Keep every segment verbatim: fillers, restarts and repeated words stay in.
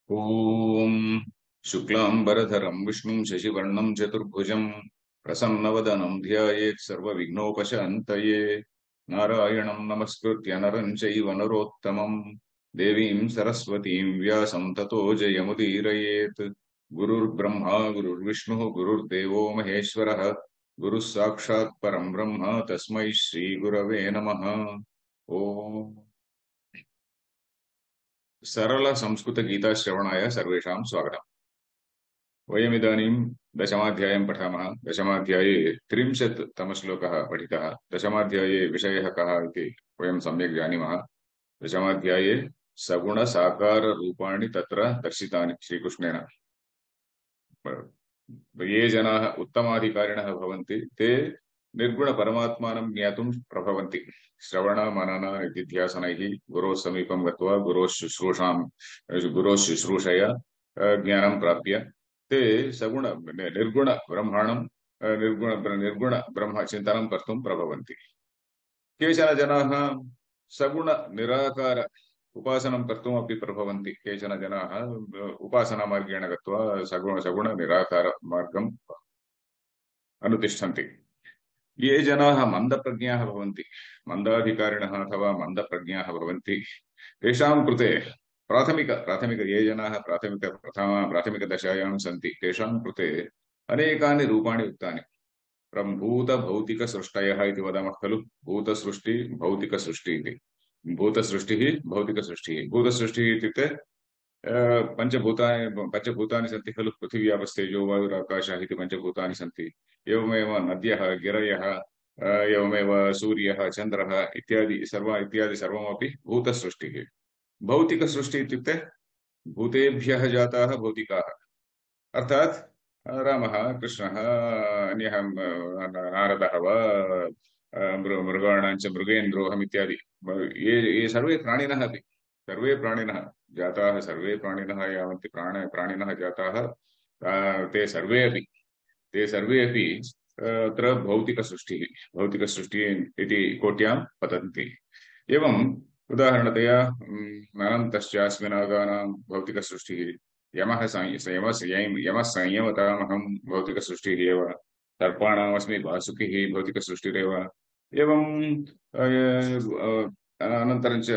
ॐ शुक्लांबरधरं विष्णुं शशिवर्णं चतुर्भुजं प्रसन्नवदनं ध्यायेत् सर्वविघ्नोपशान्तये। नारायणं नमस्कृत्य नरं चैव नरोत्तमं देवीं सरस्वतीं व्यासं ततो जयमुदीरयेत्। गुरुर्ब्रह्मा गुरुर्विष्णुः गुरुर्देवो महेश्वरः गुरुः साक्षात् परं ब्रह्म तस्मै श्रीगुरवे नमः। ॐ सरल संस्कृत गीता श्रवणाय सर्वेषां स्वागतम्। वयमिदानीं दशमाध्यायं पठामः। दशमाध्याये त्रिंशत् तमश्लोकः पठितः। दशमाध्याये विषयः कः इति वयं सम्यक् जानीमः। दशमाध्याये सगुणसाकाररूपाणि तत्र दर्शितानि श्रीकृष्णेन। ये जनाः उत्तमाधिकारिणः भवन्ति ते निर्गुणपरमात्मानं ज्ञातुं प्रभवन्ति। श्रवण मनन निधिध्यासनैः गुरोः समीपं गत्वा गुरोः शुश्रूषां गुरोः शुश्रूषया ज्ञानं प्राप्य ते सगुण निर्गुण ब्रह्माणं निर्गुण निर्गुण ब्रह्म चिन्तनं कर्तुं प्रभवन्ति। केचन जनाः सगुण निराकार उपासनं कर्तुमपि प्रभवन्ति। केचन जनाः उपासनामार्गेण गत्वा सगुण सगुण निराकार मार्गम् अनुतिष्ठन्ति। ये जनाः मन्दप्रज्ञाः भवन्ति, मन्दाधिकारिणः अथवा मन्दप्रज्ञाः भवन्ति, तेषां कृते प्राथमिक प्राथमिक ये जनाः प्राथमिक प्रथम प्राथमिकदशायां सन्ति तेषां कृते अनेकानि रूपाणि उक्तानि। भूतभौतिकसृष्टयः इति वदामः खलु। भूतसृष्टि भौतिकसृष्टि इति। भूतसृष्टिः भौतिकसृष्टिः। भूतसृष्टिः इत्युक्ते पंचभूतानि पंचभूतानि सन्ति खलु। पृथिवी आपस्तेजो वायुराकाशः इति पंचभूतानि सन्ति। एवमेव नद्यः गिरयः एवमेव सूर्यः चन्द्रः इत्यादि सर्व इत्यादि सर्वमपि भूतसृष्टिः। भौतिकसृष्टिः इत्युक्ते भूतेभ्यः जाताः भौतिकाः, अर्थात् रामः कृष्णः अन्यः नारदः वा मृगाणां च मृगेन्द्रोऽहम् इत्यादि ये ये सर्वे प्राणिनः अपि सर्वे प्राणिनः जाताः सर्वे प्राणिनः यावन्ति प्राण प्राणिनः जाताः ते सर्वे अपि ते सर्वे अपि अत्र भौतिकसृष्टिः भौतिकसृष्टिः इति कोट्यां पतन्ति। एवम् उदाहरणतया अनन्तश्चास्मिनागानां भौतिकसृष्टिः। यमः यमः संयमतामहं भौतिकसृष्टिः एव। सर्पाणामस्मि वासुकिः भौतिकसृष्टिरेव। एवम् अनन्तरं च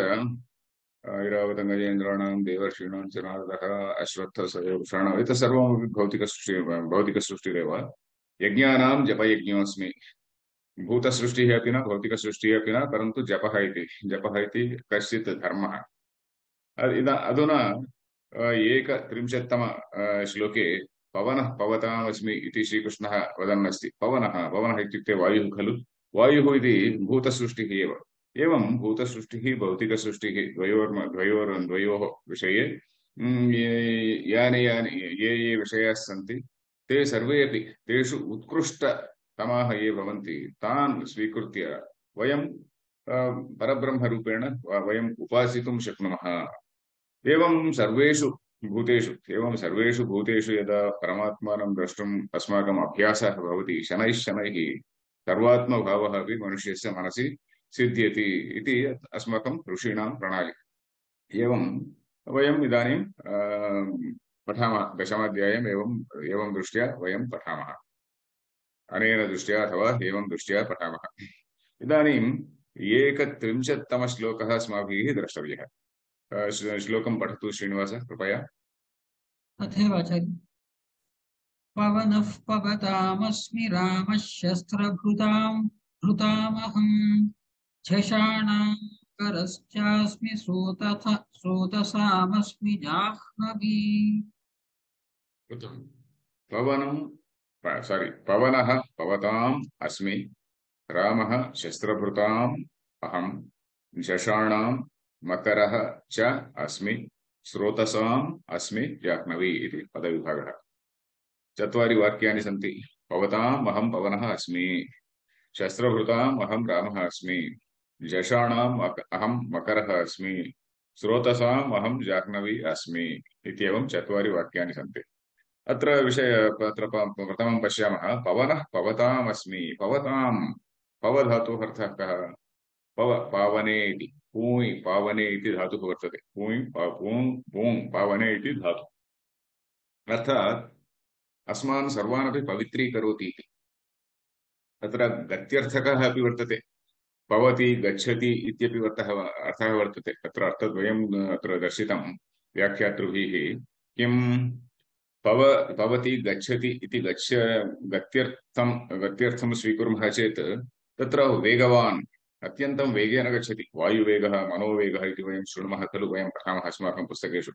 ऐरावतगजेन्द्राणां देवर्षीणां च नारदः अश्वत्थसहस्राणाम् एतत् सर्वमपि भौतिकसृष्टिः भौतिकसृष्टिरेव। यज्ञानां जपयज्ञोऽस्मि। भूतसृष्टिः अपि न भौतिकसृष्टिः अपि न, परन्तु जपः इति जपः इति कश्चित् धर्मः। अधुना एकत्रिंशत्तम श्लोके पवनः पवतामस्मि इति श्रीकृष्णः वदन् अस्ति। पवनः पवनः इत्युक्ते वायुः खलु। वायुः इति भूतसृष्टिः एव। एवं भूतसृष्टिः भौतिकसृष्टिः द्वयोर् द्वयोर् द्वयोः विषये यानि यानि ये ये विषयाः सन्ति ते सर्वे अपि तेषु उत्कृष्टतमाः ये भवन्ति तान् स्वीकृत्य वयं परब्रह्मरूपेण वयं उपासितुं शक्नुमः। एवं सर्वेषु भूतेषु एवं सर्वेषु भूतेषु यदा परमात्मानं द्रष्टुम् अस्माकम् अभ्यासः भवति शनैः शनैः सर्वात्मभावः अपि मनुष्यस्य मनसि सिद्ध्यति इति अस्माकं ऋषीणां प्रणाली। एवं वयम् इदानीं पठामः। दशमाध्यायम् एवम् एवं दृष्ट्या वयं पठामः। अनेन दृष्ट्या अथवा एवं दृष्ट्या पठामः। इदानीम् एकत्रिंशत्तमश्लोकः अस्माभिः द्रष्टव्यः। श्लोकं पठतु श्रीनिवास कृपया। तथैवाचार्य। पवनः पवतामस्मि रामः शस्त्रभृतां भृतामहम् झषाणां करश्चास्मि स्रोतथ स्रोतसामस्मि जाह्नवी। पवनं सारी पवनः पवताम् अस्मि रामः शस्त्रभृताम् अहम् झषाणां मकरः च अस्मि स्रोतसाम् अस्मि जाह्नवी इति पदविभागः। चत्वारि वाक्यानि सन्ति। पवताम् अहं पवनः अस्मि, शस्त्रभृताम् अहं रामः अस्मि, झषाणाम् अहं मकरः अस्मि, स्रोतसाम् अहं जाह्नवी अस्मि इत्येवं चत्वारि वाक्यानि सन्ति। अत्र विषय अत्र प्रथमं पश्यामः। पवनः पवताम् अस्मि। पवताम् पव धातोः अर्थः कः? पव पावने इति। पूय् पावने इति धातुः वर्तते। पूय् पूङ् पूङ् पावने इति धातुः। अर्थात् अस्मान् सर्वानपि पवित्रीकरोति इति। तत्र गत्यर्थकः अपि वर्तते। पवति गच्छति इत्यपि अर्थः अर्थः वर्तते। तत्र अर्थद्वयम् अत्र दर्शितं व्याख्यातृभिः। किं पव पवति गच्छति इति गच्छ गत्यर्थं गत्यर्थं स्वीकुर्मः चेत् तत्र वेगवान् अत्यन्तं वेगेन गच्छति। वायुवेगः मनोवेगः इति वयं शृणुमः खलु, वयं पठामः अस्माकं पुस्तकेषु।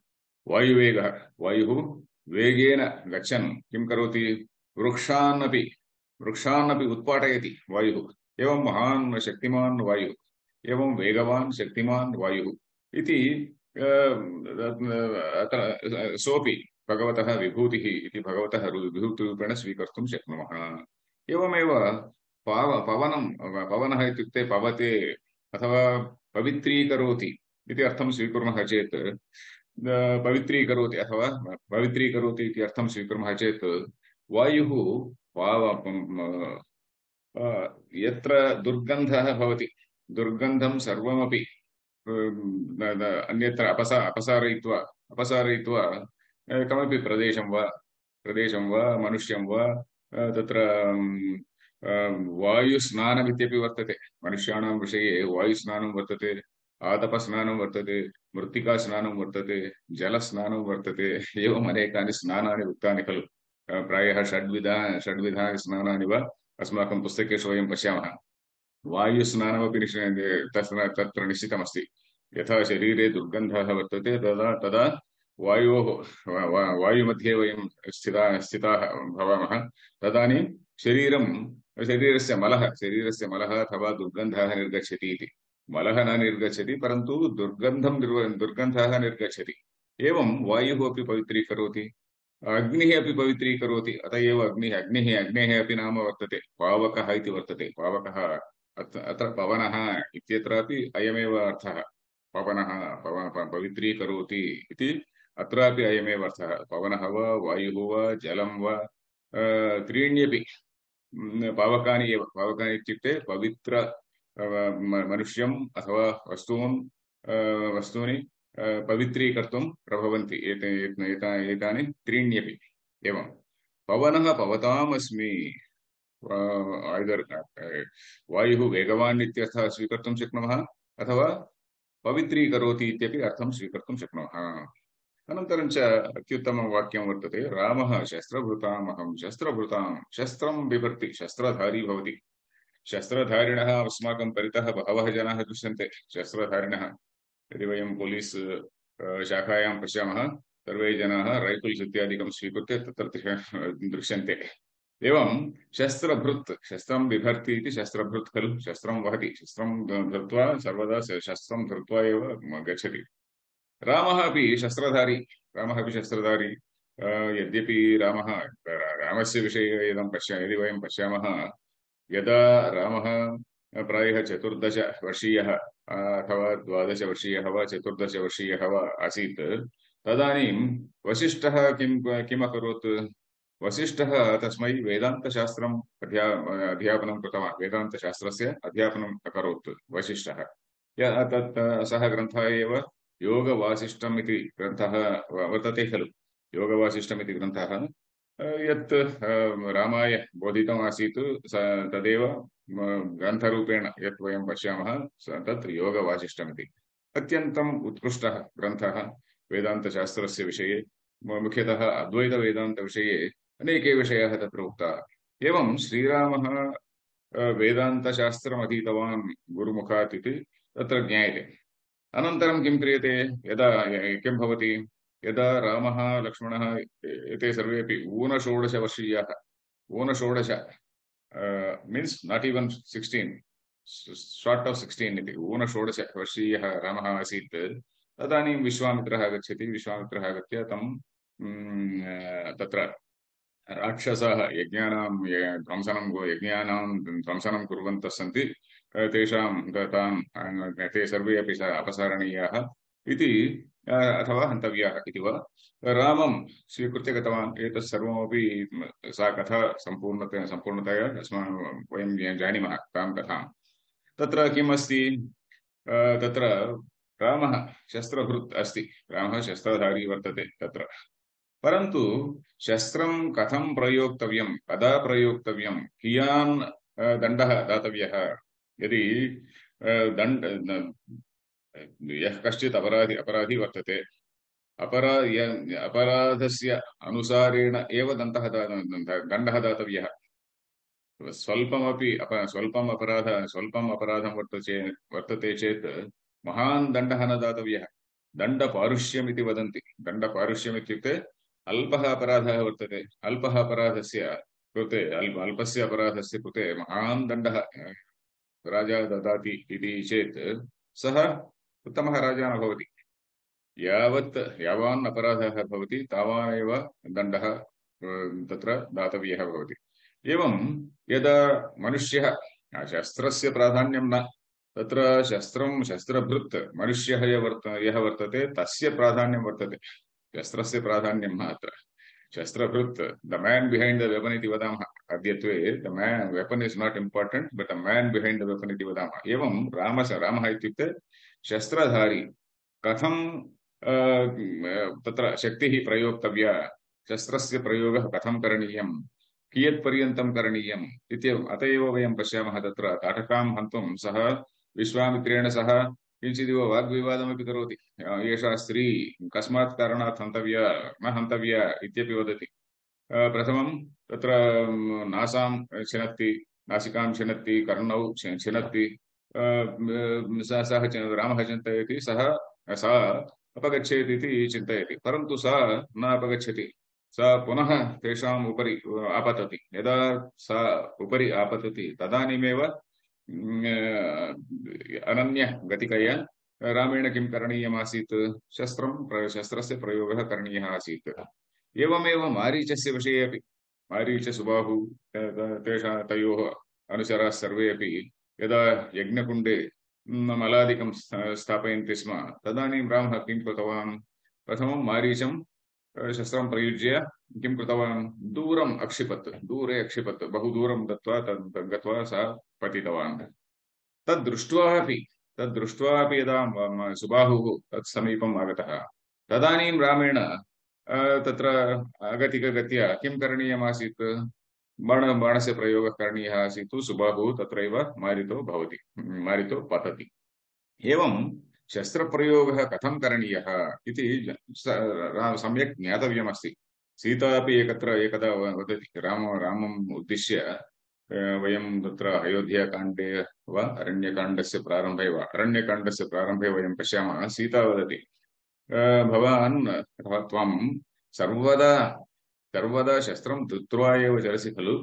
वायुवेगः, वायुः वेगेन गच्छन् किं करोति? वृक्षानपि वृक्षानपि उत्पाटयति वायुः। एवं महान् शक्तिमान् वायुः, एवं वेगवान् शक्तिमान् वायुः इति सोऽपि भगवतः विभूतिः इति भगवतः विभूतिरूपेण स्वीकर्तुं शक्नुमः। एवमेव पाव पवनं पवनः इत्युक्ते पवते अथवा पवित्रीकरोति इति अर्थं स्वीकुर्मः चेत् पवित्रीकरोति अथवा पवित्रीकरोति इति अर्थं स्वीकुर्मः चेत् वायुः पाव यत्र दुर्गन्धः भवति, दुर्गन्धं सर्वमपि अन्यत्र अपसा अपसारयित्वा अपसारयित्वा कमपि प्रदेशं वा प्रदेशं वा मनुष्यं वा तत्र वायुस्नानमित्यपि वर्तते। मनुष्याणां विषये वायुस्नानं वर्तते, आतपस्नानं वर्तते, मृत्तिकास्नानं वर्तते, जलस्नानं वर्तते। एवम् अनेकानि स्नानानि उक्तानि खलु। प्रायः षड्विधा षड्विधानि स्नानानि वा अस्माकं पुस्तकेषु वयं पश्यामः। वायुस्नानमपि तत्र निश्चितमस्ति। यथा शरीरे दुर्गन्धः वर्तते तदा तदा वायोः वायुमध्ये वयं स्थिता स्थिताः भवामः। तदानीं शरीरं शरीरस्य मलः शरीरस्य मलः अथवा दुर्गन्धः निर्गच्छति इति। मलः न निर्गच्छति, परन्तु दुर्गन्धं दुर्गन्धः निर्गच्छति। एवं वायुः अपि पवित्रीकरोति, अग्निः अपि पवित्रीकरोति। अत एव अग्निः अग्निः अग्नेः अपि नाम वर्तते, पावकः इति वर्तते। पावकः अत्र पवनः इत्यत्रापि अयमेव अर्थः। पवनः पवित्रीकरोति इति अत्रापि अयमेव अर्थः। पवनः वा वायुः वा जलं वा त्रीण्यपि पावकानि एव। पावकानि इत्युक्ते पवित्र मनुष्यम् अथवा वस्तून् वस्तूनि पवित्रीकर्तुं प्रभवन्ति एतानि त्रीण्यपि। एवं पवनः पवतामस्मि। ऐदर् वायुः वेगवान् इत्यर्थः स्वीकर्तुं शक्नुमः अथवा पवित्रीकरोति इत्यपि अर्थं स्वीकर्तुं शक्नुमः। अनन्तरं च अत्युत्तमं वाक्यं वर्तते, रामः शस्त्रभृताम् अहं शस्त्रभृतां। शस्त्रं बिभर्ति, शस्त्रधारी भवति। शस्त्रधारिणः अस्माकं परितः बहवः जनाः दृश्यन्ते। शस्त्रधारिणः यदि वयं पोलीस् शाखायां पश्यामः, सर्वे जनाः रैफल्स् इत्यादिकं स्वीकृत्य तत्र दृश्यन्ते। एवं शस्त्रभृत्, शस्त्रं बिभर्ति इति शस्त्रभृत् खलु। शस्त्रं वहति, शस्त्रं धृत्वा सर्वदा शस्त्रं धृत्वा एव गच्छति। रामः अपि शस्त्रधारी, रामः अपि शस्त्रधारी। यद्यपि रामः रामस्य विषये इदं पश्य यदि वयं पश्यामः, यदा रामः प्रायः चतुर्दश वर्षीयः अथवा द्वादश वर्षीयः वा चतुर्दश वर्षीयः वा आसीत्, तदानीं वसिष्ठः किं किम् अकरोत्? वसिष्ठः तस्मै वेदान्तशास्त्रम् अध्या अध्यापनं कृतवान्। वेदान्तशास्त्रस्य अध्यापनम् अकरोत् वसिष्ठः। तत् सः ग्रन्थः एव योगवासिष्ठम् इति ग्रन्थः वर्तते खलु। योगवासिष्ठम् इति ग्रन्थः यत् रामाय बोधितमासीत् तदेव ग्रन्थरूपेण यत् वयं पश्यामः तत् योगवासिष्ठमिति। अत्यन्तम् उत्कृष्टः ग्रन्थः वेदान्तशास्त्रस्य विषये, मुख्यतः अद्वैतवेदान्तविषये अनेके विषयाः तत्र उक्ताः। एवं श्रीरामः वेदान्तशास्त्रम् अधीतवान् गुरुमुखात् इति तत्र ज्ञायते। अनन्तरं किं क्रियते? यदा किं भवति? यदा रामः लक्ष्मणः एते सर्वेपि ऊनषोडशवर्षीयाः, ऊनषोडश means not even sixteen, short of sixteen इति ऊनषोडशवर्षीयः रामः आसीत्। तदानीं विश्वामित्रः आगच्छति। विश्वामित्रः आगत्य तं तत्र राक्षसाः यज्ञानां ध्वंसनं यज्ञानां ध्वंसनं कुर्वन्तः सन्ति, तेषां तान् ते सर्वे अपि अपसारणीयाः इति अथवा हन्तव्याः इति वा रामं स्वीकृत्य गतवान्। एतत् सर्वमपि सा कथा सम्पूर्णतया सम्पूर्णतया अस्माकं वयं जानीमः तां कथां। तत्र किम् अस्ति? तत्र रामः शस्त्रभृत् अस्ति, रामः शस्त्रधारी वर्तते तत्र। परन्तु शस्त्रं कथं प्रयोक्तव्यं, कदा प्रयोक्तव्यं, कियान् दण्डः दातव्यः, यदि दण्ड यः कश्चित् अपराधी अपराधी वर्तते, अपरा अपराधस्य अनुसारेण एव दण्डः दण्डः दातव्यः। स्वल्पमपि अप स्वल्पम् अपराध स्वल्पम् अपराधं वर्तते वर्तते चेत् महान् दण्डः न दातव्यः। दण्डपारुष्यमिति वदन्ति। दण्डपारुष्यम् इत्युक्ते अल्पः अपराधः वर्तते, अल्पः अपराधस्य कृते अल्प अल्पस्य अपराधस्य कृते महान् दण्डः राजा ददाति इति चेत् सः उत्तमः राजा न भवति। यावत् यावान् अपराधः भवति तावानेव दण्डः तत्र दातव्यः भवति। एवं यदा मनुष्यः शस्त्रस्य प्राधान्यं न, तत्र शस्त्रं शस्त्रभृत् मनुष्यः यः वर्त यः वर्तते तस्य प्राधान्यं वर्तते, शस्त्रस्य प्राधान्यं न। अत्र शस्त्रभृत् the man behind the weapon इति वदामः। अद्यत्वे the man weapon is not important but the man behind the weapon इति वदामः। एवं रामः रामः इत्युक्ते शस्त्रधारी। कथं तत्र शक्तिः प्रयोक्तव्या, शस्त्रस्य प्रयोगः कथं करणीयं, कियत्पर्यन्तं करणीयम् इत्येवम्। अत एव वयं पश्यामः तत्र ताटकां हन्तुं सः विश्वामित्रेण सह किञ्चिदिव वाग्विवादमपि करोति। एषा स्त्री कस्मात् कारणात् हन्तव्या न हन्तव्या इत्यपि वदति। प्रथमं तत्र नासां छिनत्ति, नासिकां छिनत्ति, कर्णौ छिनत्ति। सः रामः चिन्तयति सः सा अपगच्छेत् इति चिन्तयति, परन्तु सा न अपगच्छति। सा पुनः तेषाम् उपरि आपतति। यदा सा उपरि आपतति तदानीमेव अनन्यगतिकया रामेण किं करणीयमासीत्, शस्त्रं शस्त्रस्य प्रयोगः करणीयः आसीत्। एवमेव मारीचस्य विषये अपि, मारीच सुबाहु तेषां तयोः अनुचराः सर्वे अपि यदा यज्ञकुण्डे मलादिकं स्थापयन्ति स्म तदानीं रामः किं कृतवान्, प्रथमं मारीचं शस्त्रं प्रयुज्य किं कृतवान्, दूरम् अक्षिपत्, दूरे अक्षिपत्, बहु दूरं दत्वा तद् गत्वा सा पतितवान्। तद् दृष्ट्वा अपि तद् दृष्ट्वा अपि यदा सुबाहुः तत् समीपम् आगतः तदानीं रामेण तत्र अगतिकगत्या किं करणीयमासीत्, बाण बाणस्य प्रयोगः करणीयः आसीत्। सुबाहुः तत्रैव मारितो भवति, मारितो पतति। एवं शस्त्रप्रयोगः कथं करणीयः इति सम्यक् ज्ञातव्यमस्ति। सीता अपि एकत्र एकदा वदति, राम रामम् उद्दिश्य वयं तत्र अयोध्याकाण्डे वा अरण्यकाण्डस्य प्रारम्भे वा अरण्यकाण्डस्य प्रारम्भे वयं पश्यामः। सीता वदति, भवान् त्वं सर्वदा सर्वदा शस्त्रं धृत्वा एव चलसि खलु,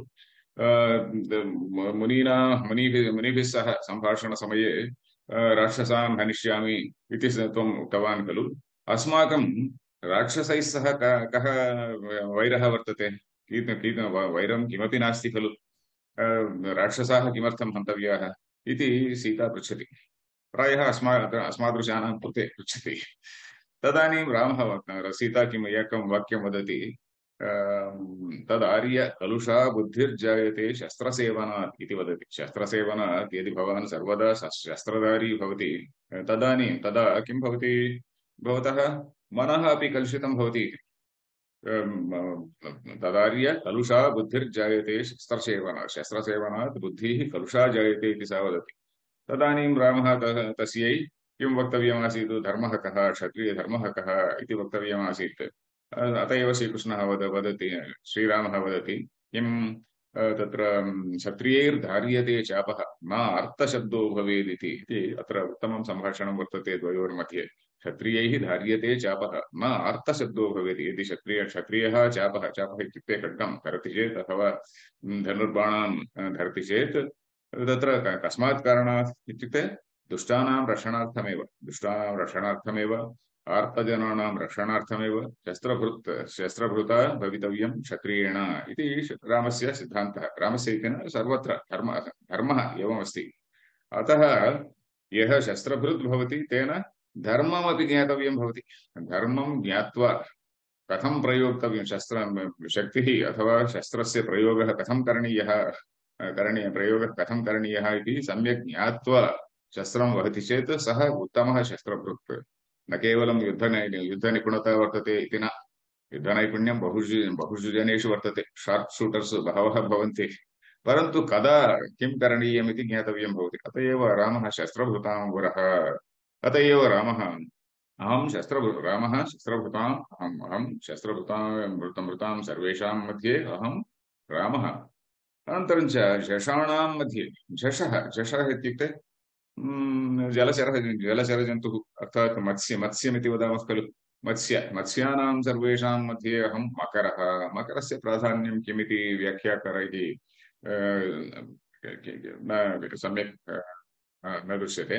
मुनीना मुनिभिः मुनिभिः सह सम्भाषणसमये राक्षसान् हनिष्यामि इति त्वम् उक्तवान् खलु, अस्माकं राक्षसैः सह कः वैरः वर्तते, कीत कीत वैरं किमपि नास्ति खलु, राक्षसाः किमर्थं हन्तव्याः इति सीता पृच्छति। प्रायः अस्मा अस्मादृशानां कृते पृच्छति। तदानीं रामः सीता किम् एकं वाक्यं वदति, तदार्य कलुषा बुद्धिर्जायते शस्त्रसेवनात् इति वदति। शस्त्रसेवनात् यदि भवान् सर्वदा शस्त्रधारी भवति तदानीं तदा किं भवति, भवतः मनः अपि कलुषितं भवति। तदार्य कलुषा बुद्धिर्जायते शस्त्रसेवनात्, शस्त्रसेवनात् बुद्धिः कलुषा जायते इति सा वदति। तदानीं रामः तस्यै किं वक्तव्यमासीत्, धर्मः कः, क्षत्रियधर्मः कः इति वक्तव्यमासीत्। अत एव श्रीकृष्णः वद वदति श्रीरामः वदति किं तत्र क्षत्रियैर्धार्यते चापः न अर्थशब्दो भवेत् इति। अत्र उत्तमं सम्भाषणं वर्तते द्वयोर्मध्ये। क्षत्रियैः धार्यते चापः न अर्थशब्दो भवेत्। यदि क्षत्रिय क्षत्रियः चापः, चापः इत्युक्ते खड्गं धरति चेत् अथवा धनुर्बाणान् धरति चेत् तत्र कस्मात् कारणात् इत्युक्ते दुष्टानां रक्षणार्थमेव, दुष्टानां रक्षणार्थमेव, आर्तजनानां रक्षणार्थमेव शस्त्रभृत् शस्त्रभृता भवितव्यं क्षत्रियेण इति रामस्य सिद्धान्तः। रामस्य इति न, सर्वत्र धर्म धर्मः एवमस्ति। अतः यः शस्त्रभृत् भवति तेन धर्ममपि ज्ञातव्यं भवति। धर्मं ज्ञात्वा कथं प्रयोक्तव्यं, शस्त्र शक्तिः अथवा शस्त्रस्य प्रयोगः कथं करणीयः, करणीय प्रयोगः कथं करणीयः इति सम्यक् ज्ञात्वा शस्त्रं वहति चेत् सः उत्तमः शस्त्रभृत् न केवलं युद्ध युद्धनिपुणता वर्तते इति न युद्धनैपुण्यं बहुषु बहुषु जनेषु वर्तते शार्प् शूटर्स् बहवः भवन्ति परन्तु कदा किं करणीयमिति ज्ञातव्यं भवति अत एव रामः शस्त्रभृतां वरः अत एव रामः अहं शस्त्र रामः शस्त्रभृताम् अहम् अहं शस्त्रभृतां मृतं मृतां सर्वेषां मध्ये अहं रामः अनन्तरं च झषाणां मध्ये झषः झषः इत्युक्ते जलचर जलचरजन्तुः अर्थात् मत्स्य मत्स्यमिति वदामः खलु मत्स्य मत्स्यानां सर्वेषां मध्ये अहं मकरः मकरस्य प्राधान्यं किमिति व्याख्याकारैः न सम्यक् न दृश्यते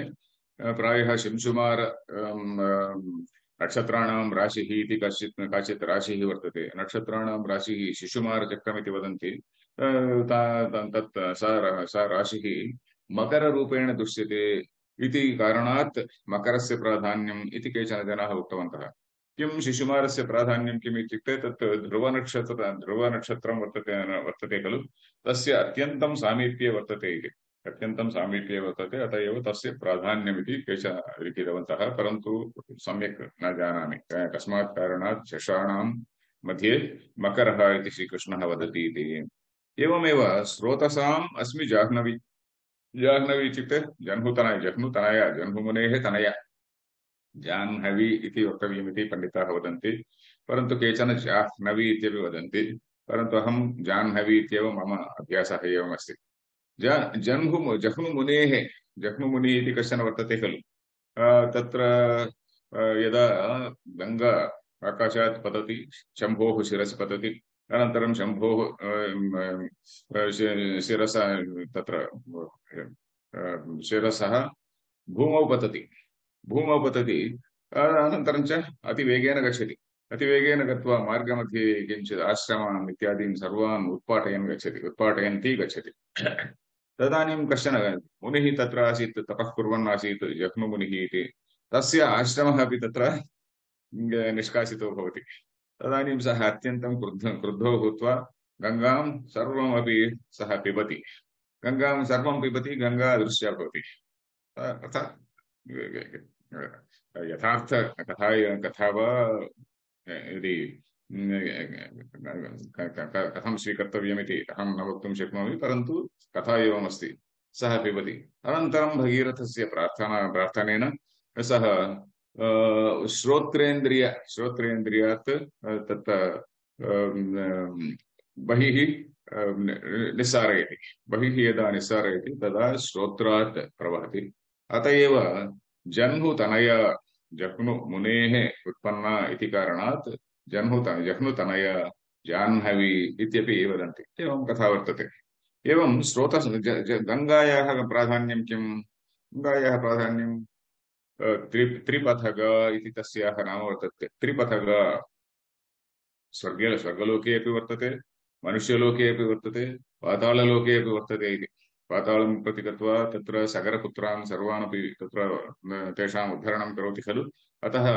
प्रायः शिंशुमार नक्षत्राणां राशिः इति कश्चित् काचित् राशिः वर्तते नक्षत्राणां राशिः शिशुमारचक्रमिति वदन्ति तत् सा सा राशिः मकररूपेण दृश्यते इति कारणात् मकरस्य प्राधान्यम् इति केचन जनाः उक्तवन्तः किं शिशुमारस्य प्राधान्यं किम् इत्युक्ते तत् ध्रुवनक्षत्र ध्रुवनक्षत्रं वर्तते वर्तते खलु तस्य अत्यन्तं सामीप्ये वर्तते इति अत्यन्तं सामीप्ये वर्तते अत एव तस्य प्राधान्यमिति केचन लिखितवन्तः परन्तु सम्यक् न जानामि कस्मात् कारणात् झषाणां मध्ये मकरः इति श्रीकृष्णः वदति इति एवमेव स्रोतसाम् अस्मि जाह्नवी जाह्नवी इत्युक्ते जह्नुतनय जह्नुतनय जह्नुमुनेः तनया जाह्नवी इति वक्तव्यमिति पण्डिताः वदन्ति परन्तु केचन जाह्नवी इत्यपि वदन्ति परन्तु अहं जाह्नवी इत्येव मम अभ्यासः एवमस्ति जह्नु जह्नुमुनेः जह्नुमुनिः इति कश्चन वर्तते खलु तत्र यदा गङ्गा आकाशात् पतति शम्भोः शिरसि पतति अनन्तरं शम्भोः शिरसः तत्र शिरसः भूमौ पतति भूमौ पतति अनन्तरं च अतिवेगेन गच्छति अतिवेगेन गत्वा मार्गमध्ये किञ्चित् आश्रमान् इत्यादीन् सर्वान् उत्पाटयन् गच्छति उत्पाटयन्ती गच्छति तदानीं कश्चन मुनिः तत्र आसीत् तपः कुर्वन् आसीत् जह्नुमुनिः इति तस्य आश्रमः अपि तत्र निष्कासितो भवति तदानीं सः अत्यन्तं क्रुद्ध क्रुद्धो भूत्वा गङ्गां सर्वमपि सः पिबति गङ्गां सर्वं पिबति गङ्गा अदृश्या भवति अर्थात् यथार्थ कथा कथा वा यदि कथं स्वीकर्तव्यमिति अहं न वक्तुं शक्नोमि परन्तु कथा एवमस्ति सः पिबति अनन्तरं भगीरथस्य प्रार्थना प्रार्थनेन सः श्रोत्रेन्द्रिय श्रोत्रेन्द्रियात् तत् बहिः निस्सारयति बहिः यदा निस्सारयति तदा श्रोत्रात् प्रवहति अत एव जह्नुतनया जह्नुमुनेः उत्पन्ना इति कारणात् जह्नुतनया जह्नुतनया जाह्नवी इत्यपि वदन्ति एवं कथा वर्तते एवं स्रोत गङ्गायाः प्राधान्यं किं गङ्गायाः प्राधान्यं त्रि त्रिपथग इति तस्याः नाम वर्तते त्रिपथग स्वर्गे स्वर्गलोके अपि वर्तते मनुष्यलोके अपि वर्तते पाताललोके अपि वर्तते इति पातालं प्रति गत्वा तत्र सगरपुत्रान् सर्वानपि तत्र तेषाम् उद्धरणं करोति खलु अतः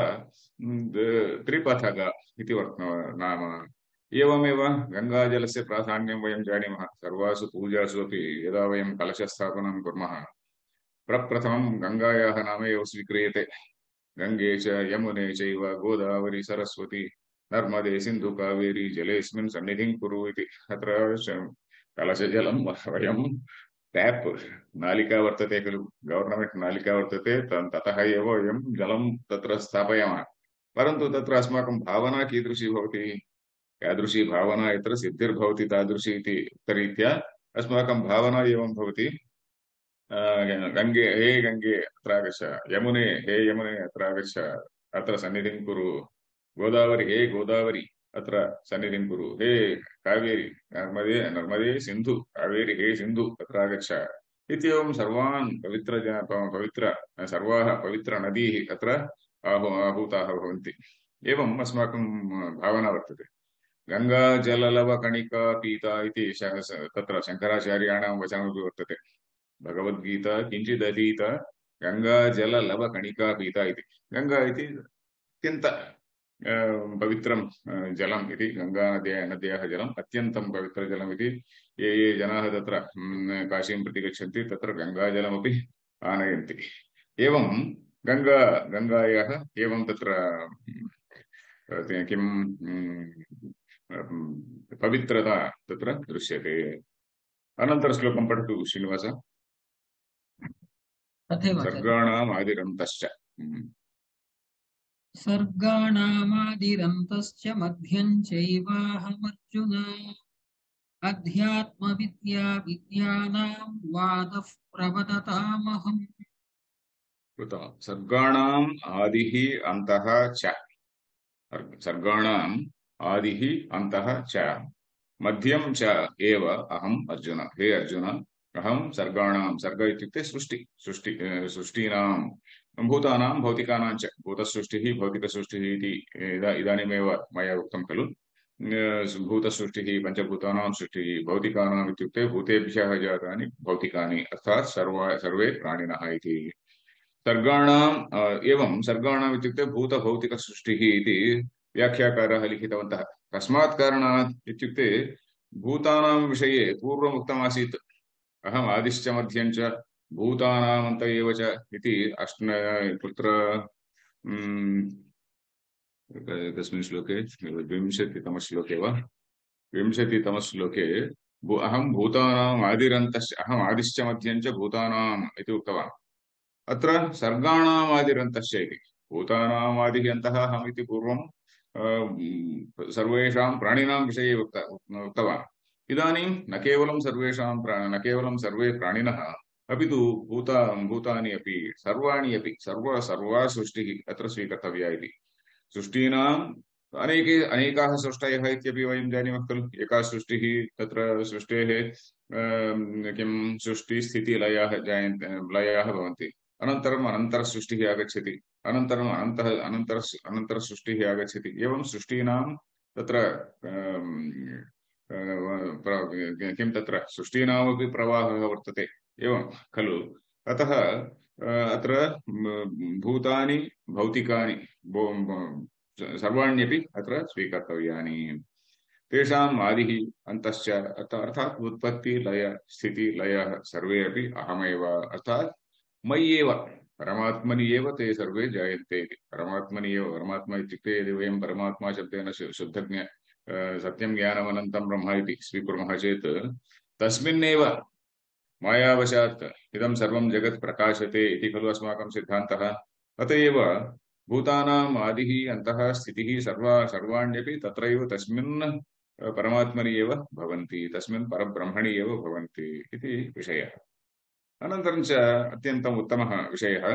त्रिपथग इति नाम एवमेव गङ्गाजलस्य प्राधान्यं वयं जानीमः सर्वासु पूजासु अपि यदा वयं कलशस्थापनं कुर्मः प्रप्रथमं गङ्गायाः नाम एव स्वीक्रियते गङ्गे च यमुने चैव गोदावरी सरस्वती नर्मदे सिन्धु कावेरी जलेऽस्मिन् सन्निधिं कुरु इति अत्र कलशजलं वयं टैप नालिका वर्तते खलु गवर्नमेंट नालिका वर्तते ततः एव वयं जलं तत्र स्थापयामः परन्तु तत्र अस्माकं भावना कीदृशी भवति यादृशी भावना यत्र सिद्धिर्भवति तादृशी इति उक्तरीत्या अस्माकं भावना एवं भवति गङ्गे हे गङ्गे अत्र आगच्छ यमुने हे यमुने अत्र आगच्छ अत्र सन्निधिं कुरु गोदावरी हे गोदावरी अत्र सन्निधिं कुरु हे कावेरी नर्मदे नर्मदे सिन्धु कावेरी हे सिन्धु अत्र आगच्छ इत्येवं सर्वान् पवित्र पवित्र सर्वाः पवित्रनदीः अत्र आहू आहूताः भवन्ति एवम् अस्माकं भावना वर्तते गङ्गाजललवकणिका पीता इति तत्र शङ्कराचार्याणां वचनमपि वर्तते भगवद्गीता किञ्चिदधीत गङ्गाजललवकणिका पीता इति गङ्गा इति अत्यन्त पवित्रं जलम् इति गङ्गानद्या नद्याः जलम् अत्यन्तं पवित्रजलम् इति ये ये जनाः तत्र काशीं प्रति गच्छन्ति तत्र गङ्गाजलमपि आनयन्ति। एवं गङ्गा गङ्गायाः एवं तत्र किं पवित्रता तत्र दृश्यते। अनन्तरश्लोकं पठतु श्रीनिवास। तथैव आचार्य। सर्गाणाम् आदिरन्तश्च। सर्गाणामादिरन्तश्च मध्यं चैवाहमर्जुन अध्यात्मविद्या विद्यानां वादः प्रवदतामहम्। सर्गाणाम् आदिः अन्तः च। सर्गाणाम् आदिः अन्तः च मध्यं च एव अहम् अर्जुन। हे अर्जुन, अहं सर्गाणां, सर्ग इत्युक्ते सृष्टि, सृष्टि सृष्टीनां भूतानां भौतिकानां च। भूतसृष्टिः भौतिकसृष्टिः इति इदानीमेव मया उक्तं खलु। भूतसृष्टिः पञ्चभूतानां सृष्टिः, भौतिकानाम् इत्युक्ते भूतेभ्यः जातानि भौतिकानि, अर्थात् सर्वा सर्वे प्राणिनः इति। सर्गाणाम् एवं सर्गाणाम् इत्युक्ते भूतभौतिकसृष्टिः इति व्याख्याकाराः लिखितवन्तः। कस्मात् कारणात् इत्युक्ते भूतानां विषये पूर्वम् उक्तमासीत्, अहम् आदिश्च मध्यं च भूतानाम् अन्त एव च इति। अष्ट कुत्र कस्मिन् श्लोके, विंशतितमश्लोके वा विंशतितमश्लोके अहं भूतानाम् आदिरन्तश्च, अहम् आदिश्च मध्यं च भूतानाम् इति उक्तवान्। अत्र सर्गाणाम् आदिरन्तश्च इति। भूतानाम् आदिः अन्तः अहम् इति पूर्वं सर्वेषां प्राणिनां विषये उक्तवान्। इदानीं न केवलं सर्वेषां न केवलं सर्वे प्राणिनः, अपि तु भूता भूतानि अपि सर्वाणि अपि सर्व सर्वा सृष्टिः अत्र स्वीकर्तव्या इति। सृष्टीनाम् अनेके अनेकाः सृष्टयः इत्यपि वयं जानीमः खलु। एका सृष्टिः, तत्र सृष्टेः किं सृष्टिस्थितिलयाः जायन्ते, लयाः भवन्ति। अनन्तरम् अनन्तरसृष्टिः आगच्छति, अनन्तरम् अनन्तः अनन्तर अनन्तरसृष्टिः आगच्छति। एवं सृष्टीनां तत्र किं तत्र सृष्टीनामपि प्रवाहः वर्तते, एवं खलु। अतः अत्र भूतानि भौतिकानि सर्वाण्यपि अत्र स्वीकर्तव्यानि। तेषाम् आदिः अन्तश्च अर्थात् उत्पत्ति लय स्थिति लयः सर्वे अपि अहमेव, अर्थात् मय्येव, परमात्मनि एव ते सर्वे जायन्ते इति। परमात्मनि एव, परमात्मा इत्युक्ते यदि वयं परमात्मा शब्देन शुद्धज्ञ सत्यं ज्ञानमनन्तं ब्रह्म इति स्वीकुर्मः चेत् तस्मिन्नेव मायावशात् इदं सर्वं जगत् प्रकाशते इति खलु अस्माकं सिद्धान्तः। अत एव भूतानाम् आदिः अन्तः स्थितिः सर्वा सर्वाण्यपि तत्रैव तस्मिन् परमात्मनि एव भवन्ति, तस्मिन् परब्रह्मणि एव भवन्ति इति विषयः। अनन्तरं च अत्यन्तम् उत्तमः विषयः,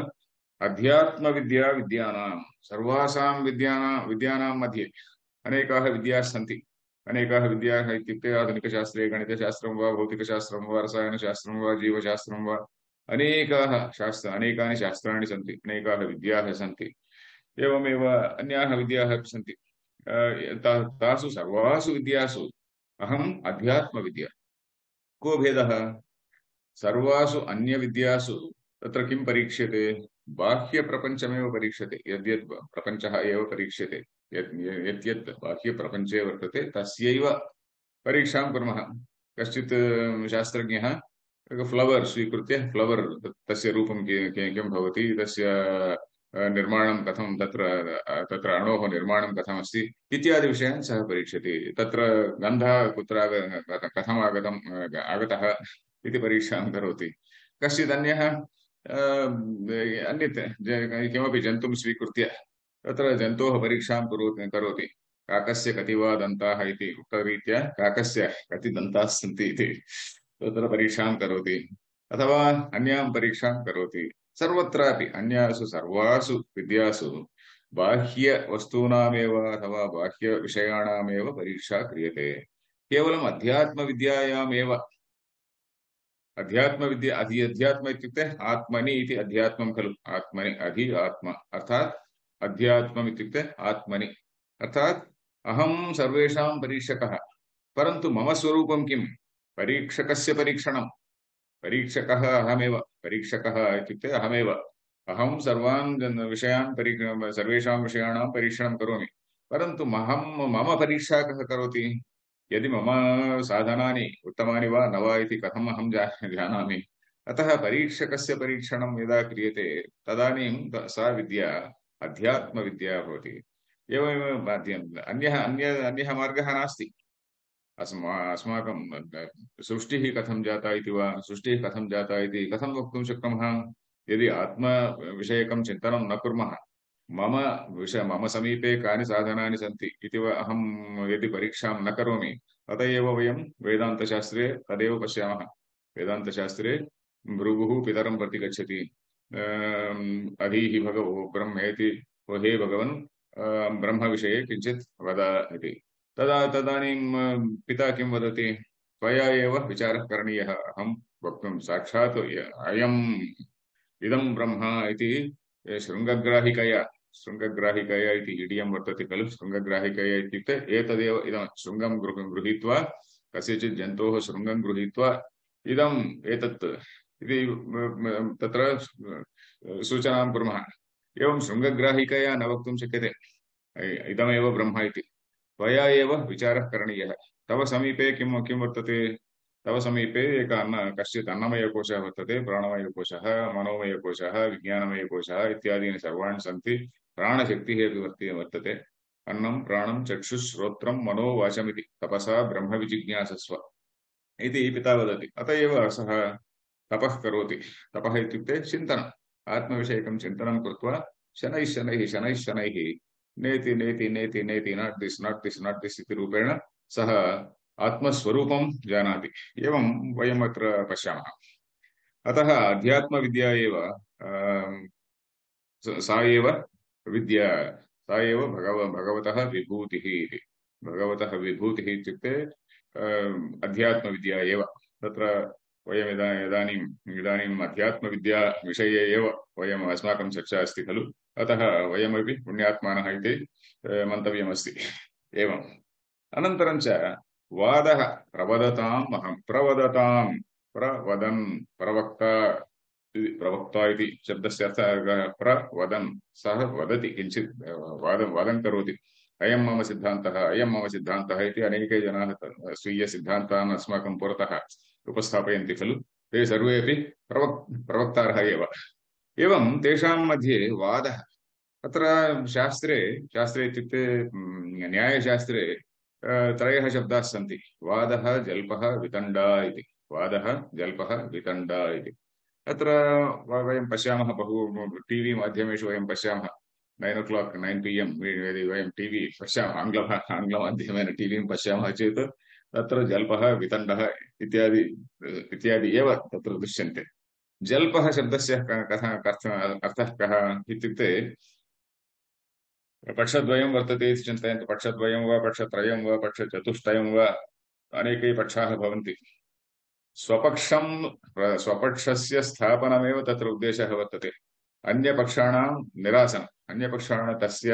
अध्यात्मविद्या विद्यानां। सर्वासां विद्यानां विद्यानां मध्ये अनेकाः विद्याः सन्ति। अनेकाः विद्याः इत्युक्ते आधुनिकशास्त्रे गणितशास्त्रं वा भौतिकशास्त्रं वा रसायनशास्त्रं वा जीवशास्त्रं वा अनेकाः शास्त्र अनेकानि शास्त्राणि सन्ति, अनेकाः विद्याः सन्ति। एवमेव अन्याः विद्याः अपि सन्ति। तासु सर्वासु विद्यासु अहम् अध्यात्मविद्या। को भेदः? सर्वासु अन्यविद्यासु तत्र किं परीक्ष्यते? बाह्यप्रपञ्चमेव परीक्ष्यते। यद्यद् प्रपञ्चः एव परीक्ष्यते, यत् यत् बाह्यप्रपञ्चे वर्तते तस्यैव परीक्षां कुर्मः। कश्चित् शास्त्रज्ञः फ्लवर् स्वीकृत्य, फ्लवर् तस्य रूपं किं भवति, तस्य निर्माणं कथं, तत्र तत्र अणोः निर्माणं कथमस्ति इत्यादि विषयान् सः परीक्षति। तत्र गन्धः कुत्र कथम् आगतम् आगतः इति परीक्षां करोति। कश्चित् अन्यः अन्यत् किमपि जन्तुं स्वीकृत्य तत्र जन्तोः परीक्षां करोति। काकस्य कति वा दन्ताः इति उक्तरीत्या काकस्य कति दन्ताः सन्ति इति तत्र परीक्षां करोति, अथवा अन्यां परीक्षां करोति। सर्वत्रापि अन्यासु सर्वासु विद्यासु बाह्यवस्तूनामेव अथवा बाह्यविषयाणामेव परीक्षा क्रियते। केवलम् अध्यात्मविद्यायामेव, अध्यात्मविद्या अधि अध्यात्म इत्युक्ते आत्मनि इति अध्यात्मं खलु। आत्मनि अधि आत्म, अर्थात् अध्यात्मम् इत्युक्ते आत्मनि, अर्थात् अहं सर्वेषां परीक्षकः। परन्तु मम स्वरूपं किं? परीक्षकस्य परीक्षणं। परीक्षकः अहमेव, परीक्षकः इत्युक्ते अहमेव। अहं सर्वान् विषयान् परी सर्वेषां विषयाणां परीक्षणं करोमि, परन्तु महं मम परीक्षा कः करोति? यदि मम साधनानि उत्तमानि वा न वा इति कथम् अहं जानामि? अतः परीक्षकस्य परीक्षणं यदा क्रियते तदानीं सा विद्या अध्यात्मविद्या भवति। एवमेव माध्यम अन्यः अन्य अन्यः मार्गः नास्ति। अस्मा अस्माकं सृष्टिः कथं जाता इति वा सृष्टिः कथं जाता इति कथं वक्तुं शक्नुमः यदि आत्मविषयकं चिन्तनं न कुर्मः। मम विषय मम समीपे कानि साधनानि सन्ति इति वा अहं यदि परीक्षां न करोमि अत एव वयं वेदान्तशास्त्रे तदेव पश्यामः। वेदान्तशास्त्रे भृगुः पितरं प्रति गच्छति, अधीहि भगवो ब्रह्मेति, ओ हे भगवन् ब्रह्मविषये किञ्चित् वद इति। तदा तदानीं पिता किं वदति, त्वया एव विचारः करणीयः, अहं वक्तुं साक्षात् अयम् इदं ब्रह्म इति शृङ्गग्राहिकया शृङ्गग्राहिकया इति इडियं वर्तते खलु। शृङ्गग्राहिकया इत्युक्ते एतदेव इदं शृङ्गं गृहीत्वा कस्यचित् जन्तोः शृङ्गं गृहीत्वा इदम् एतत् इति तत्र सूचनां कुर्मः। एवं शृङ्गग्राहिकया न वक्तुं शक्यते इदमेव ब्रह्म इति। त्वया एव विचारः करणीयः। तव समीपे किं किं वर्तते, तव समीपे एक अन्न कश्चित् अन्नमयकोशः वर्तते, प्राणमयकोशः, मनोमयकोशः, विज्ञानमयकोशः इत्यादीनि सर्वाणि सन्ति। प्राणशक्तिः अपि वर्ति वर्तते। अन्नं प्राणं चक्षुः श्रोत्रं मनो वाचमिति तपसा ब्रह्मविजिज्ञासस्व इति पिता वदति। अत एव सः तपः करोति। तपः इत्युक्ते चिन्तनम्, आत्मविषयकं चिन्तनं कृत्वा शनैः शनैः शनैः शनैः नेति नेति नेति नेति not this not this not this इति रूपेण सः आत्मस्वरूपं जानाति। एवं वयम् अत्र पश्यामः। अतः अध्यात्मविद्या एव सा एव विद्या, सा एव भगव भगवतः विभूतिः इति। भगवतः विभूतिः इत्युक्ते अध्यात्मविद्या एव। तत्र वयम् इदा इदानीम् इदानीम् अध्यात्मविद्या विषये एव वयम् अस्माकं चर्चा अस्ति खलु। अतः वयमपि पुण्यात्मानः इति मन्तव्यमस्ति। एवम् अनन्तरं च वादः प्रवदताम् अहं प्रवदतां प्रवदन् प्रवक्ता प्रवक्ता इति शब्दस्य अर्थः प्रवदन्, सः वदति किञ्चित् वादं वादं करोति। अयं मम सिद्धान्तः अयं मम सिद्धान्तः इति अनेके जनाः स्वीयसिद्धान्तान् अस्माकं पुरतः उपस्थापयन्ति खलु। ते सर्वेपि प्रवक् प्रवक्तारः एव। एवं तेषां मध्ये वादः। अत्र शास्त्रे शास्त्रे इत्युक्ते न्यायशास्त्रे त्रयः शब्दाः सन्ति, वादः जल्पः वितण्डा इति। वादः जल्पः वितण्डा इति अत्र वयं पश्यामः। बहु टीवी माध्यमेषु वयं पश्यामः। नैन् ओ क्लाक् नैन् पि एम् यदि वयं टीवी पश्यामः, आङ्ग्ल आङ्ग्लमाध्यमेन टीवीं पश्यामः चेत् तत्र जल्पः वितण्डः इत्यादि इत्यादि एव तत्र दृश्यन्ते। जल्पः शब्दस्य कथं अर्थः कः इत्युक्ते पक्षद्वयं वर्तते इति चिन्तयन्तु। पक्षद्वयं वा पक्षत्रयं वा पक्षचतुष्टयं वा अनेके पक्षाः भवन्ति। स्वपक्षं स्वपक्षस्य स्थापनमेव तत्र उद्देशः वर्तते। अन्यपक्षाणां निरासनम्। अन्यपक्षाणां तस्य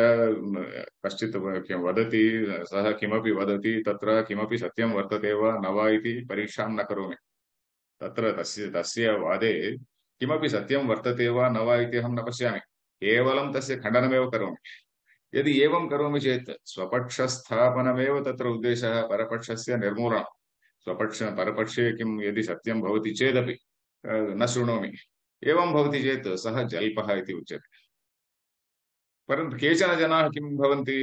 कश्चित् किं वदति, सः किमपि वदति, तत्र किमपि सत्यं वर्तते वा न वा इति परीक्षां न करोमि। तत्र तस्य तस्य वादे किमपि सत्यं वर्तते वा न वा इति अहं न पश्यामि, केवलं तस्य खण्डनमेव करोमि। यदि एवं करोमि चेत् स्वपक्षस्थापनमेव तत्र उद्देशः, परपक्षस्य निर्मूलनं। स्वपक्ष परपक्षे किं यदि सत्यं भवति चेदपि न शृणोमि। एवं भवति चेत् सः जल्पः इति उच्यते। परन्तु केचन जनाः किं भवन्ति,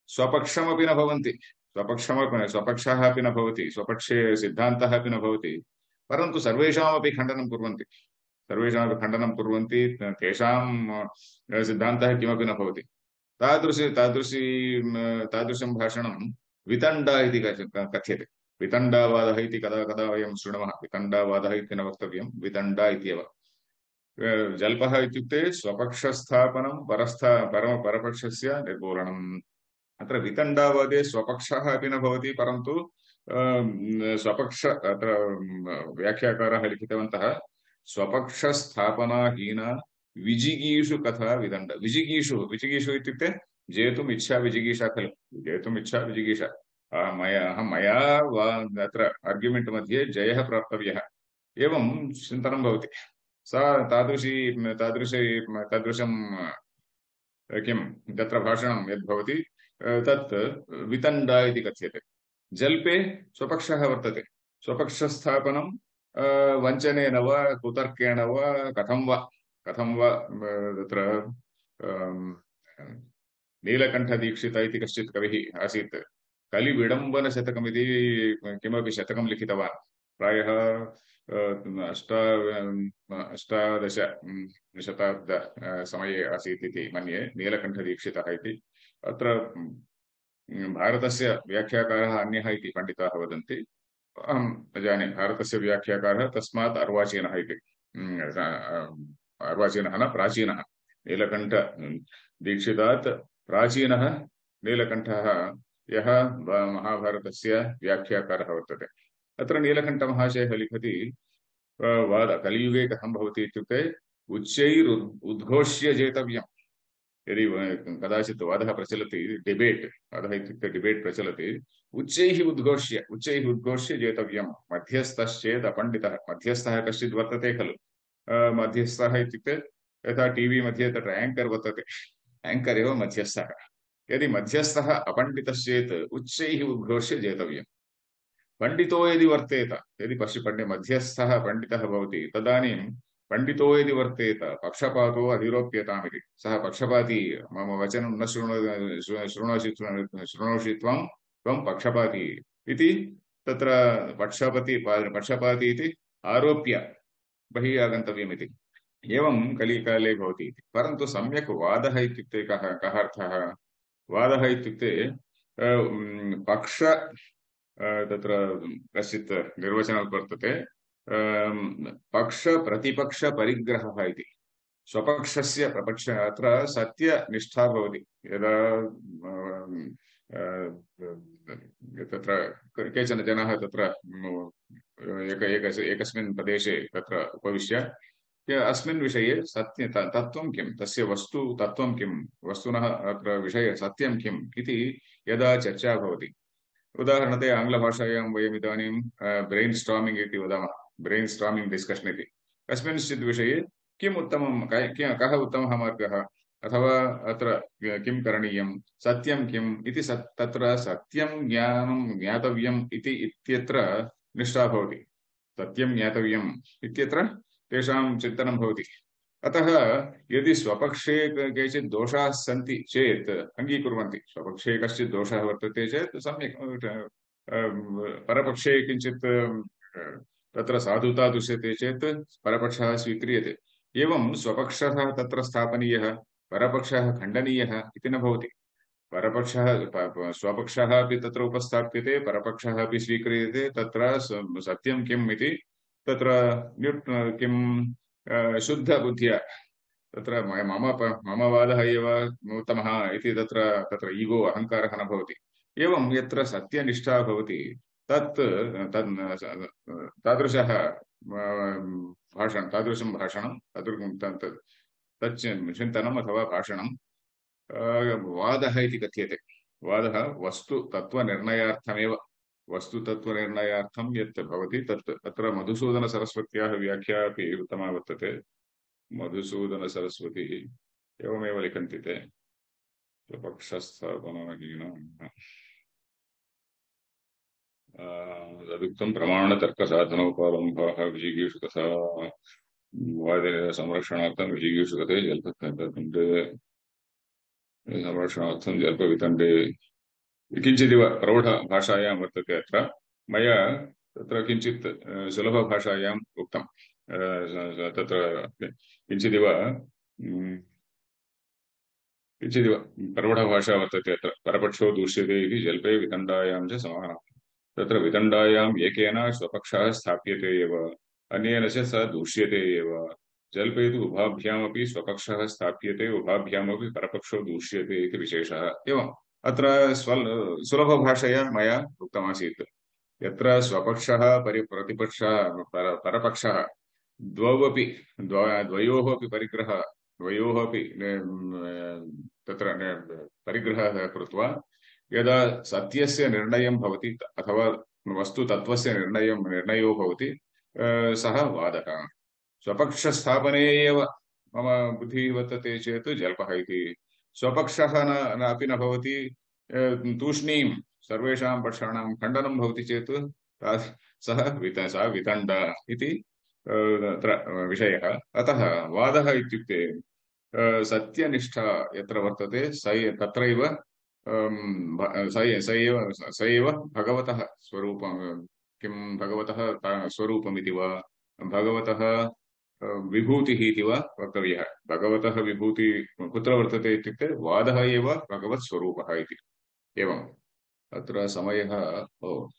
स्वपक्षमपि न भवन्ति, स्वपक्षमपि स्वपक्षः अपि न भवति, स्वपक्षे सिद्धान्तः अपि न भवति, परन्तु सर्वेषामपि खण्डनं कुर्वन्ति। सर्वेषामपि खण्डनं कुर्वन्ति, तेषां सिद्धान्तः किमपि न भवति। तादृशी तादृशी तादृशं भाषणं वितण्डा इति कथ्यते। वितण्डावादः इति कदा कदा वयं शृणुमः। वितण्डावादः इति न वक्तव्यं, वितण्डा इत्येव। जल्पः इत्युक्ते स्वपक्षस्थापनं, परस्था परम परपक्षस्य निर्मूलनम्। अत्र वितण्डावादे स्वपक्षः अपि न भवति, परन्तु स्वपक्ष अत्र व्याख्याकारः लिखितवन्तः स्वपक्षस्थापनाहीन विजिगीषु कथा विदण्ड। विजिगीषु विजिगीषु इत्युक्ते जेतुम् इच्छा विजिगीषा खलु। जेतुम् इच्छा विजिगीषा। मया मया वा अत्र आर्ग्युमेण्ट् मध्ये जयः प्राप्तव्यः, एवं चिन्तनं भवति। सा तादृशी तादृशी तादृशं किं तत्र भाषणं यद्भवति तत् वितण्डा इति कथ्यते। जल्पे स्वपक्षः वर्तते, स्वपक्षस्थापनं वञ्चनेन वा कुतर्केण वा कथं वा कथं वा तत्र नीलकण्ठदीक्षित इति कश्चित् कविः आसीत्। कलिविडम्बनशतकमिति किमपि शतकं लिखितवान्। प्रायः अष्टा अष्टादश शताब्द समये आसीत् इति मन्ये नीलकण्ठदीक्षितः इति। अत्र भारतस्य व्याख्याकारः अन्यः इति पण्डिताः वदन्ति। अहं न जाने भारतस्य व्याख्याकारः तस्मात् अर्वाचीनः इति। अर्वाचीनः न प्राचीनः। नीलकण्ठ दीक्षितात् प्राचीनः नीलकण्ठः यः महाभारतस्य व्याख्याकारः वर्तते। अत्र नीलकण्ठमहाशयः लिखति वाद कलियुगे कथं भवति इत्युक्ते उच्चैर् उद्घोष्य जेतव्यम्। यदि कदाचित् वादः प्रचलति, डिबेट्, वादः इत्युक्ते डिबेट् प्रचलति, उच्चैः उद्घोष्य उच्चैः उद्घोष्य जेतव्यम्। मध्यस्थश्चेत् अपण्डितः, मध्यस्थः कश्चित् वर्तते खलु। मध्यस्थः इत्युक्ते यथा टीवी मध्ये तत्र एङ्कर् वर्तते, एङ्कर् एव मध्यस्थः। यदि मध्यस्थः अपण्डितश्चेत् उच्चैः उद्घोष्य जेतव्यम्। पण्डितो यदि वर्तेत, यदि पश्य पण्डे मध्यस्थः पण्डितः भवति तदानीं पण्डितो यदि वर्तेत पक्षपातो अधिरोप्यतामिति। सः पक्षपाती, मम वचनं न शृणो शृणोषि शृणोषि त्वं त्वं पक्षपाती इति तत्र पक्षपति पक्षपाती इति आरोप्य बहिः आगन्तव्यमिति। एवं कलिकाले भवति। परन्तु सम्यक् वादः इत्युक्ते कः कः अर्थः? वादः इत्युक्ते पक्ष तत्र कश्चित् निर्वचनं वर्तते, पक्ष प्रतिपक्ष परिग्रहः इति। स्वपक्षस्य प्रपक्ष अत्र सत्यनिष्ठा भवति। यदा तत्र केचन जनाः तत्र एक एकस्मिन् प्रदेशे तत्र उपविश्य अस्मिन् विषये सत्य तत्त्वं किं, तस्य वस्तु तत्त्वं किं, वस्तुनः अत्र विषये सत्यं किम् इति यदा चर्चा भवति। उदाहरणतया आङ्ग्लभाषायां वयम् इदानीं ब्रेन् स्टार्मिङ्ग् इति वदामः, ब्रेन् स्टार्मिङ्ग् डिस्कशन् इति। कस्मिंश्चित् विषये किम् उत्तमं, कः उत्तमः मार्गः, अथवा अत्र किं करणीयं, सत्यं किम् इति तत्र सत्यं ज्ञानं ज्ञातव्यम् इति इत्यत्र निष्ठा भवति। सत्यं ज्ञातव्यम् इत्यत्र तेषां चिन्तनं भवति। अतः यदि स्वपक्षे केचित् दोषाः सन्ति चेत् अङ्गीकुर्वन्ति। स्वपक्षे कश्चित् दोषः वर्तते चेत् सम्यक्, परपक्षे किञ्चित् तत्र साधुता दृश्यते चेत् परपक्षः स्वीक्रियते। एवं स्वपक्षः तत्र स्थापनीयः, परपक्षः खण्डनीयः इति न भवति। परपक्षः स्वपक्षः अपि तत्र उपस्थाप्यते, परपक्षः अपि स्वीक्रियते। तत्र सत्यं किम् इति तत्र किं शुद्धबुद्ध्या तत्र मम मम वादः एव उत्तमः इति तत्र तत्र ईगो अहङ्कारः न भवति। एवं यत्र सत्यनिष्ठा भवति तत् तादृशः भाषणं तादृशं भाषणं तत् चिन्तनम् अथवा भाषणं वादः इति कथ्यते। वादः वस्तु तत्त्वनिर्णयार्थमेव, वस्तुतत्त्वनिर्णयार्थं यत् भवति तत्। अत्र मधुसूदनसरस्वत्याः व्याख्या अपि उत्तमा वर्तते। मधुसूदनसरस्वती एवमेव लिखन्ति ते, स्वपक्षस्थापनहीनम् तदुक्तं प्रमाणतर्कसाधनोपालम्भाः विजिगीषु तथा वादिनः संरक्षणार्थं विजिगीषु तथे जल्पवितण्डे संरक्षणार्थं जल्पवितण्डे किञ्चिदिव प्रौढभाषायां वर्तते। अत्र मया तत्र किञ्चित् सुलभभाषायाम् उक्तं। तत्र किञ्चिदिव किञ्चिदिव प्रौढभाषा वर्तते। अत्र परपक्षो दूष्यते इति जल्पे वितण्डायां च समानम्। तत्र वितण्डायाम् एकेन स्वपक्षः स्थाप्यते एव, अन्येन च स दूष्यते एव। जल्पे तु उभाभ्यामपि स्वपक्षः स्थाप्यते, उभाभ्यामपि परपक्षो दूष्यते इति विशेषः। एवम् अत्र स्वल् सुलभभाषया मया उक्तमासीत्। यत्र स्वपक्षः परि प्रतिपक्षः पर परपक्षः द्वौ अपि द्वयोः अपि परिग्रहः द्वयोः अपि तत्र परिग्रहः कृत्वा यदा सत्यस्य निर्णयं भवति अथवा वस्तुतत्त्वस्य निर्णयं निर्णयो भवति सः वादः। स्वपक्षस्थापने एव मम बुद्धिः वर्तते चेत् जल्पः इति। स्वपक्षः न अपि न भवति, तूष्णीं सर्वेषां पक्षाणां खण्डनं भवति चेत् ता- सः वित सः वितण्डा इति अ, तत्र विषयः। अतः वादः इत्युक्ते अ, सत्यनिष्ठा यत्र वर्तते स ए- तत्रैव अम्, भ- स ए- स एव स एव भगवतः स्वरूपं, किं भगवतः ता- स्वरूपमिति वा भगवतः अ, विभूतिः इति वा वक्तव्यः। भगवतः विभूति कुत्र वर्तते इत्युक्ते वादः एव भगवत् स्वरूपः इति। एवम् अत्र समयः, ओ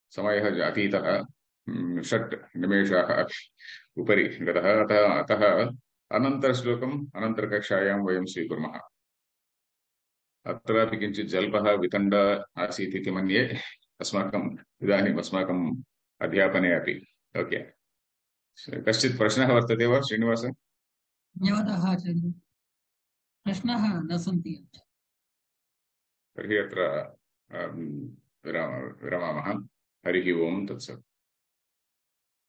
समयः अतीतः, हम्म, षट् निमेषाः अपि उपरि गतः। अतः अतः अनन्तरश्लोकम् अनन्तरकक्षायां वयं स्वीकुर्मः। अत्रापि किञ्चित् जल्पः वितण्ड आसीत् इति मन्ये, अस्माकम् इदानीम् अस्माकम् अध्यापने अपि। ओके, कश्चित् प्रश्नः वर्तते वा श्रीनिवास? धन्यवादाः आचार्य। प्रश्नाः न सन्ति। तर्हि अत्र अम्, विराम विरमामः। हरिः ओम् तत्सत्।